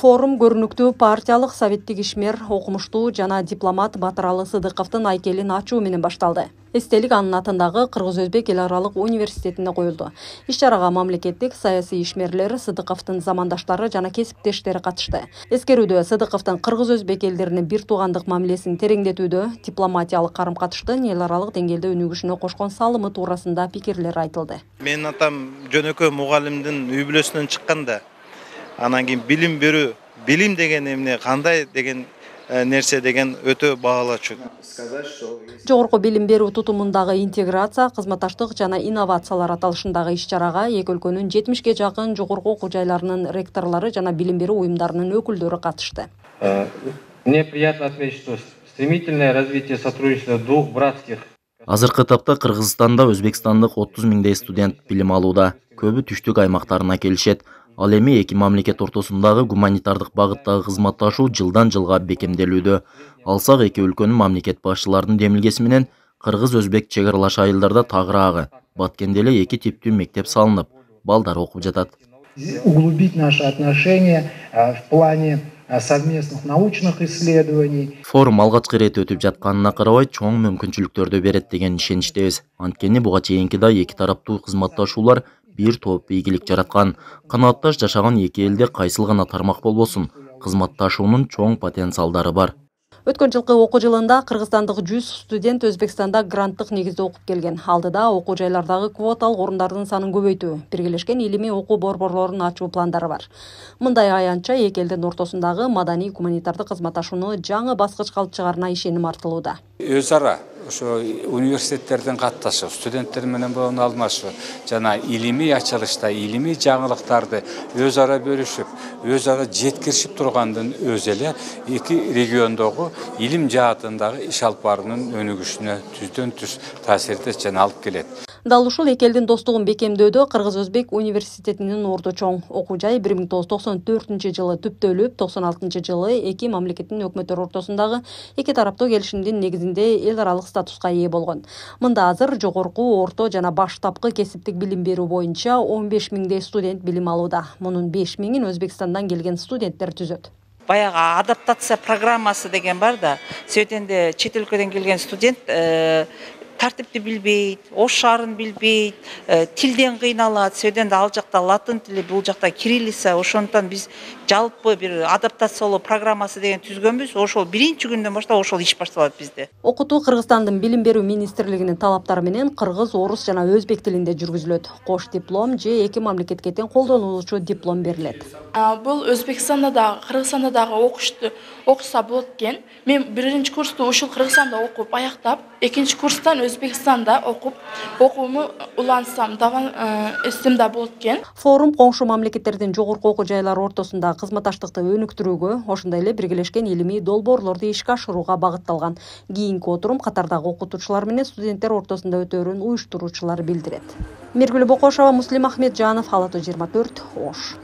Форум көрүнүктүү партиялык советтик ишмер, окумуштуу жана дипломат Батыралы Сыдыковдун айкелин ачуу менен башталды. Эстелик анын атындагы Кыргыз-Өзбек эл аралык университетинде коюлду. Иш-чарага мамлекеттик саясий ишмерлер, Сыдыковдун замандаштары жана кесиптештери катышты. Эскерүүдө Сыдыковдун Кыргыз-Өзбек элдерине бир туугандык мамилесин тереңдетүүдө, дипломатиялык карым-катыштын эл аралык деңгээлде өнүгүшүнө кошкон салымы туурасында пикирлер айтылды. Менин атам жөнөкөй мугалимдин үй бүлөсүнөн чыкканда, анан кийин билим деген эмне, кандай деген нерсе деген өтө баалачу. Жогорку билим берүү тутумундагы интеграция, кызматташтык жана инновациялар аталышындагы иш-чарага эки өлкөнүн 70ге жакын жогорку окуу жайларынын ректорлору жана билим берүү уюмдарынын өкүлдөрү катышты. Мне приятно отметить, что стремительное развитие сотрудничества двух братских. Азыркы тапта Кыргызстанда өзбекстандык 30 миңдей студент билим алууда. Көбү түштүк аймактарына келишет. Ал эми эки мамлекет ортосундагы гуманитардык багыттагы кызматташуу жылдан жылга бекемделүүдө. Алсак эки өлкөнүн мамлекет башчыларынын демилгеси менен Кыргыз-Өзбек чек аралаш айылдарда тагыраагы Баткенде эле эки типтүү мектеп салынып, балдар окуп жатат. Углубить наши отношения в плане совместных научных исследований. Форум алгачкы ирет өтүп жатканына карабай чоң мүмкүнчүлүктөрдү берет деген ишеничтебиз. Анткени буга чейинки да эки тараптуу кызматташуулар бир топ ийгилик жараткан. Канаатташ жашаган эки элде кайсыл гана тармак болбосун, кызматташуунун чоң потенциалдары бар. Өткөн жылкы окуу жылында кыргызстандык 100 студент Өзбекстанда гранттык негизде окуп келген. Алдыда окуу жайлардагы квоталык орундардын санын көбөйтүү, биргелешкен илимий окуу борборлорун ачуу пландары бар. Мындай аянтча эки элдин ортосундагы маданий гуманитардык кызматташууну жаңы баскычка алып чыгаарына ишеним артылууда. Өз ара ошо университеттердин катташып, студенттер менен болгон алмашуу жана илимий ачылышта илимий жаңылыктарды өз ара бөлүшүп, өз ара жеткиришип тургандын өзү эле эки региондогу илим жаатындагы иш алып баруунун өнүгүшүнө түздөн түз таасирдеш жана алып келет. Дал ушул эки элдин достугун бекемдөөдө Кыргыз-Өзбек университетинин орду чоң. Окуу жай 1994-жылы түптөлүп, 96-жылы эки мамлекеттин өкмөттөрү ортосундагы эки тараптуу келишимдин негизинде эл аралык статуска ээ болгон. Мында азыр жогорку, орто жана баштапкы кесиптик билим берүү боюнча 15 миңдей студент билим алууда. Мунун 5 миңин Өзбекстандан келген студенттер түзөт. Баягы адаптация программасы деген бар да, сөйтенде чет өлкөдөн келген студент тартипти билбейт, ош шаарын билбейт, тилден кыйналат, сөйдөн ал жакта латын тили, бул жакта кириллица, ошондон биз жалпы бир адаптациялоо программасы деген түзгөнбүз. Ошол биринчи күндөн баштап ошол иш башталат бизде. Окутуу Кыргызстандын билим берүү министрлигинин талаптары менен кыргыз, орус жана өзбек тилинде жүргүзүлөт. Кош диплом же эки мамлекетке тең колдонулуучу диплом берилет. Бул Өзбекстанда да, Кыргызстанда дагы окуса болот экен. Мен биринчи курсту ушул Кыргызстанда окуп аяктап, экинчи курстан Өзбекстанда окуп, окууму улантсам дагы эстимде болот экен. Форум коңшу мамлекеттердин жогорку окуу жайлары ортосунда кызматташтыкты өнүктүрүүгө, ошондой эле биргелешкен илимий долбоорлорду ишке ашырууга багытталган. Кийинки отурум катардагы окутуучулар менен студенттер ортосунда өтөөрүн уюштуруучулар билдирет. Миргүл Бокошова, Муслим Ахметжанов, Ала 24, Ош.